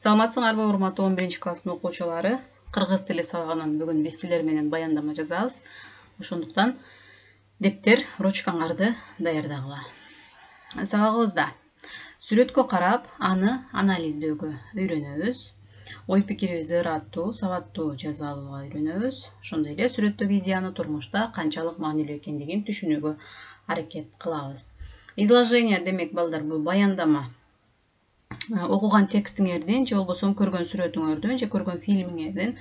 Саламатсыңарбы урматтуу 11-класстын окуучулары? Кыргыз тили сабагынан бүгүн биз силер менен баяндама жазабыз. Ошондуктан дептер, ручкаңарды даярдагыла. Сабагыбызда сүрөткө карап, аны анализдөөгө үйрөнөбүз. Ой пикирибизди ыраттуу, сабаттуу жаза алууга үйрөнөбүз. Ошондой эле сүрөттөгү идеяны турмушта канчалык маанилүү экендигин түшүнүүгө аракет кылабыз. Изложение демек балдар, бул баяндама. Окуган текстиңердин же болбосо көргөн сүрөтүңөрдүн же көргөн фильмиңердин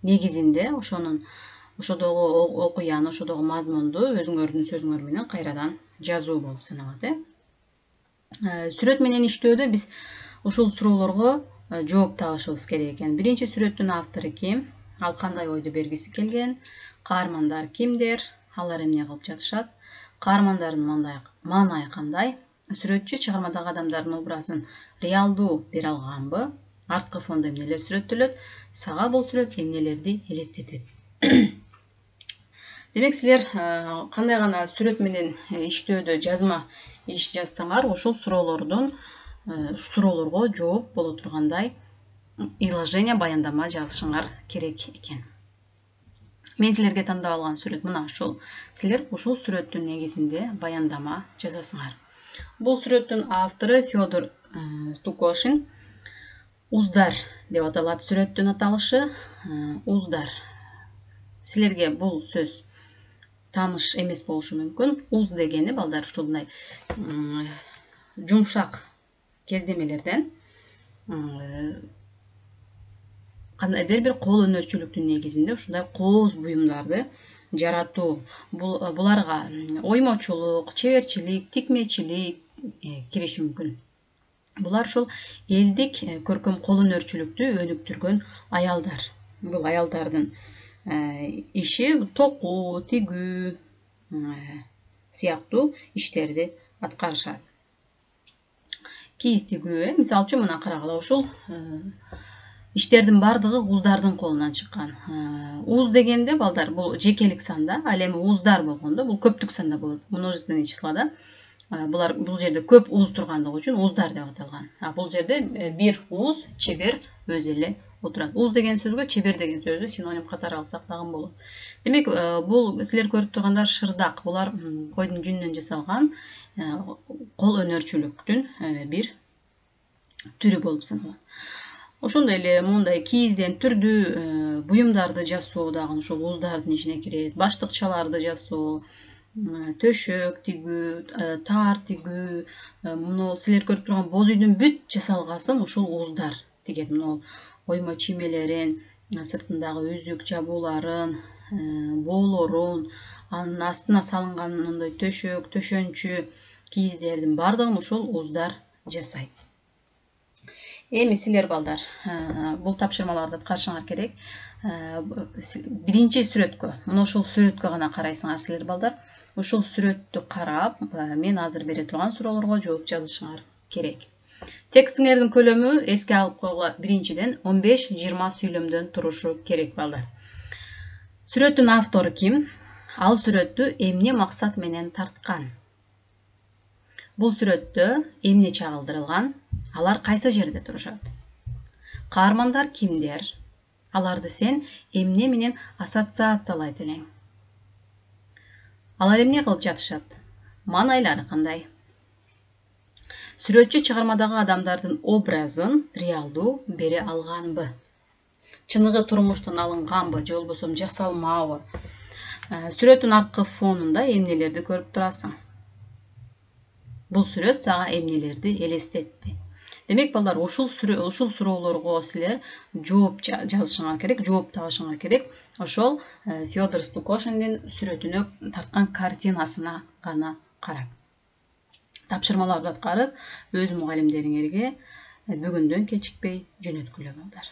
негизинде ошодогу окуяны, ошодогу мазмунду өзүңөрдүн сөзүңөр менен кайрадан жазуу болуп саналат. Сүрөт менен иштөөдө биз ушул суроолорго жооп табышыбыз керек экен. Биринчи сүрөттүн автору ким? Ал кандай ойду бергиси келген? Каармандар кимдер? Алар эмне кылып жатышат? Каармандардын маанайы кандай? Сүрөтчү чыгармадагы адамдардын образын реалдуу бере алганбы? Арткы фондо эмнелер сүрөттөлөт? Сага бул сүрөт эмнелерди элестетет? Демек, силер кандай гана сүрөт менен иштөөдө жазма иш жазсаңар, ошол суроолорго жооп боло тургандай изложение, баяндама жазышыңар керек экен. Мен силерге тандап алган сүрөт мына ушул. Силер ушул сүрөттүн негизинде баяндама жазасыңар. Бул сүрөттүн автору Федор Стукошин. Уздар деп аталат сүрөттүн аталышы. Уздар. Силерге бул сөз тааныш эмес болушу мүмкүн. Уз дегени балдар ушундай жумшак кездемелерден кандайдыр бир кол өнөрчүлүктүн негизинде ушундай кооз буюмдарды жаратуу. Буларга оймочулук, чеберчилик, тикмечилик кириши мүмкүн. Булар ушул элдик көркөм кол өнөрчүлүктү өнүктүргөн аялдар. Бул аялдардын иши токуу, тигүү сыяктуу иштерди аткарышат. Кийиз тигүү, мисалы үчүн мына карагыла, ушул иштердин бардыгы уздардын колунан чыккан. Уз дегенде балдар бул жекелик санда, ал эми уздар болгондо бул көптүк санда болот. Множественный числода бул жерде көп уз тургандыгы үчүн уздар деп аталган. Бул жерде бир уз, чебер өзү эле отурат. Уз деген сөзгө чебер деген сөздү синоним катары алсак дагы болот. Демек, бул силер көрүп тургандар шырдак. Булар койдун жүнүнөн жасалган кол өнөрчүлүктүн бир түрү болуп саналат. Ошондой эле мындай кийизден түрдүү буюмдарды жасоо дагы ушул уздардын ишине кирет. Баштыкчаларды жасоо, төшөк тигүү, таар тигүү, муну силер көрүп турган боз үйдүн бүт жасалгасын ушул уздар тигет. Муну оймо чиймелерин, сыртындагы үзүк жабууларын, боолорун, анын астына салынган мындай төшөк, төшөнчү кийиздердин бардыгын ушул уздар жасайт. Эми силер балдар, бул тапшырмаларды аткарышыңар керек. Биринчи сүрөткө, мына ушул сүрөткө гана карайсыңар силер балдар. Ушул сүрөттү карап, мен азыр бере турган суроолорго жооп жазышыңар керек. Текстиңердин көлөмү эске алып койгула, биринчиден 15-20 сүйлөмдөн турушу керек балдар. Сүрөттүн автору ким? Ал сүрөттү эмне максат менен тарткан? Бул сүрөттө эмне чагылдырылган? Алар кайсы жерде турушат? Каармандар кимдер? Аларды сен эмне менен ассоциациялайт элең? Алар эмне кылып жатышат? Маанайлары кандай? Сүрөтчү чыгармадагы адамдардын образын реалдуу бере алганбы? Чыныгы турмуштан алынганбы же болбосо жасалмабы? Сүрөттүн арткы фонунда эмнелерди көрүп турасың? Бул сүрөт сага эмнелерди элестетти? Демек, балдар, ушул суроолорго силер жооп жазышыңар керек, жооп табышыңар керек. Ошол Федор Стукошиндин сүрөтүнө тарткан картинасына гана карап. Тапшырмаларды аткарып, өз мугалимдериңерге бүгүндөн кечикпей жөнөткүлө балдар.